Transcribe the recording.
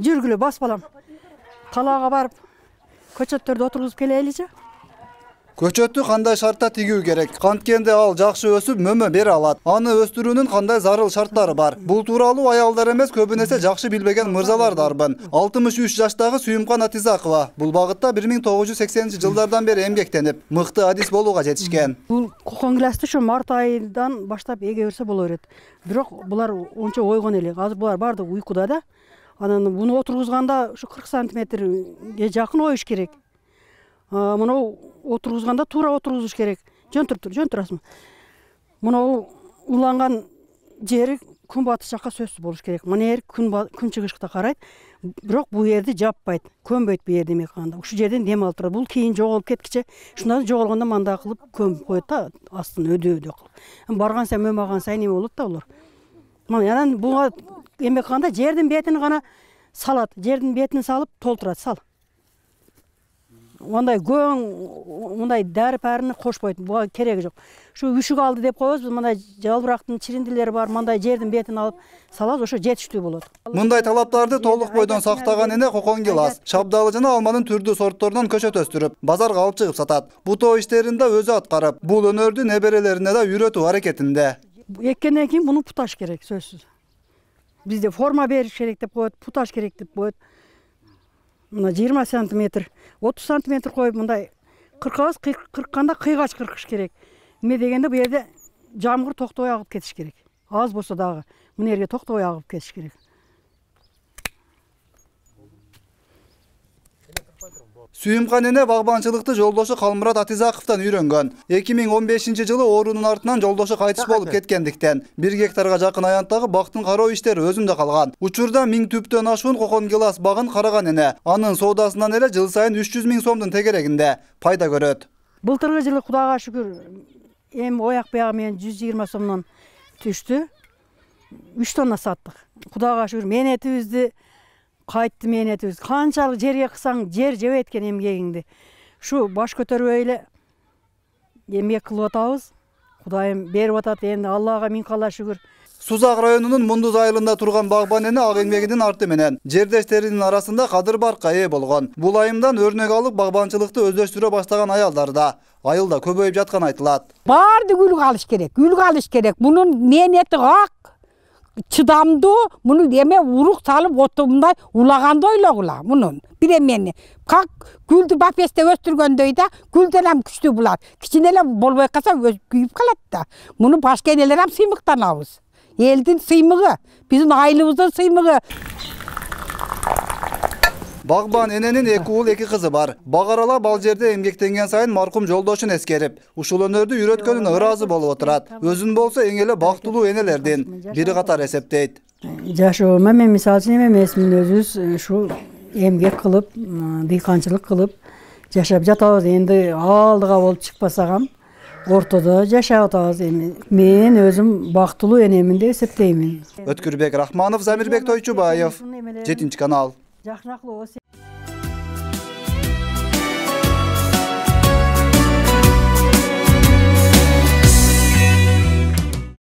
Жүргүлө бас балам. Талаага барып, көчөттөрдү отургузуп келеличи. Көчөттү кандай шартта тигүү керек? Канткенде ал жакшы өсүп, мөмө бере алат. Аны өстүрүүнүн кандай зарыл шарттары бар? Бул тууралуу аялдар эмес, көбүнесе жакшы билбеген мырзалар дарбын. 63 жаштагы Сүйүмкан Атизакова бул багытта 1980-жылдардан бери эмгектенип, мыкты адис болууга жетишкен. Бул кокон гиласты ушу март айынан баштап эге берсе боло берет. Бирок булар ончо ойгон эле. Азыр булар баардыгы уйкуда да. Анан буну отургузганда ушу 40 сантиметрге жакын оюш керек. Мына отургузганда туура отургузуш керек. Жөн турасың. Мына уланган жери күн батыш жакка сөзсүз болуш керек. Мына жер күн чыгышка карайт. Бирок бул жерди жаппайт, көмбөйт бу жер демек кандай. Ушул жерден дем алып турат. Бул кийин жоголуп кеткиче, шундан жоголгондо мындай кылып көмүп коет да, астын өдөө кылып. Барган сайын мөмөгөн сайын эме болот да булар. Мына анан буга эме кылганда жердин бетин гана салат. Жердин бетин салып толтурат, сал. Мындай көң, мындай дәрі-пәріні кошпойт, буга кереги жок. Шу үшүк алды деп коебуз, мындай жалбырактын чириндилери бар, мындай жердин бетин алып салабыз, ошо жетиштүү болот. Мындай талаптарды толук бойдон сактаган эне кокон гилас, шабдалы жана алманын түрдүү сортторунан көчөт өстүрүп, базарга алып чыгып сатат. Бутоо иштерин да өзү аткарып, бул өнөрдү неберелерине да үйрөтүү аракетинде. Эккенден кийин муну путаш керек, сөзсүз. Бизде форма бериш керек деп коет, путаш керек деп коет. Мына 20 сантиметр, 30 сантиметр коюп, мындай кыркканда кыйгач кыркыш керек. Эме дегенде бу жерде жамгыр токтобой агып кетиш керек. Аз болсо дагы мына жерге токтобой агып кетиш керек. Сүйүмкан эне багбанчылыкты жолдошу Калмурат Атизаковдон үйрөнгөн. 2015-жылы оорунун артынан жолдошу кайтыш болуп кеткендиктен 1 гектарга жакын аянттагы бактын кароо иштери өзүндө калган. Учурда 1000 түптөн ашуун кокон гилас багын караган эне. Анын соодасынан эле жыл сайын 300 000 сомдун тегерегинде пайда көрөт. Былтыркы жылы Кудайга шүгүр эм ояк бягы менен 120 сомдон түштү. 3 тонна саттык. Кудайга шүгүр мээнетибизди кайтты мээнетибиз. Канчалык жерге кысаң, жер жебейт экен эмгегиңди. Шу баш көтөрбөй эле эмгек кылып атабыз. Кудайым берип атат, энди Аллага миң калла шүгүр. Сузак районунун Мундуз айылында турган багбан эне ак эмгегинин арты менен жердештеринин арасында кадыр баркка ээ болгон. Бул айымдан өрнөк алып багбанчылыкты өздөштүрө баштаган аялдар да айылда көбөйүп жаткан айтылат. Барды гүлгө алыш керек. Мунун мээнети ак, чыдамдуу, муну эме урук салып отто мындай улаганды ойлогула мунун. Бир эмени как гүлдү бапесте өстүргөндөй да, гүлдөн ham күчтүү булар. Кичине эле болбой калса күйүп калат да. Муну башка энелер ham сыймыктанабыз. Элдин сыймыгы, биздин айылыбыздын сыймыгы. Багбан эненин 2 уул 2 кызы бар. Багарала бал жерде эмгектенген сайын маркум жолдошун эскерип, ушул өнөрдү үйрөткөнүнө ыраазы болуп отурат. Өзүн болсо эң эле бактылуу энелердин бири катары эсептейт. Жашоомо мен мисалы үчүн эмесмин, өзүбүз ушу эмгек кылып, дыйканчылык кылып жашап жатабыз. Энди алдыга болуп чыкпасагам, ортодо жашап атабыз. Мен өзүм бактылуу энемин деп эсептеймин. Өткүрбек Рахманов, Замирбек Тойчубаев, 7 канал.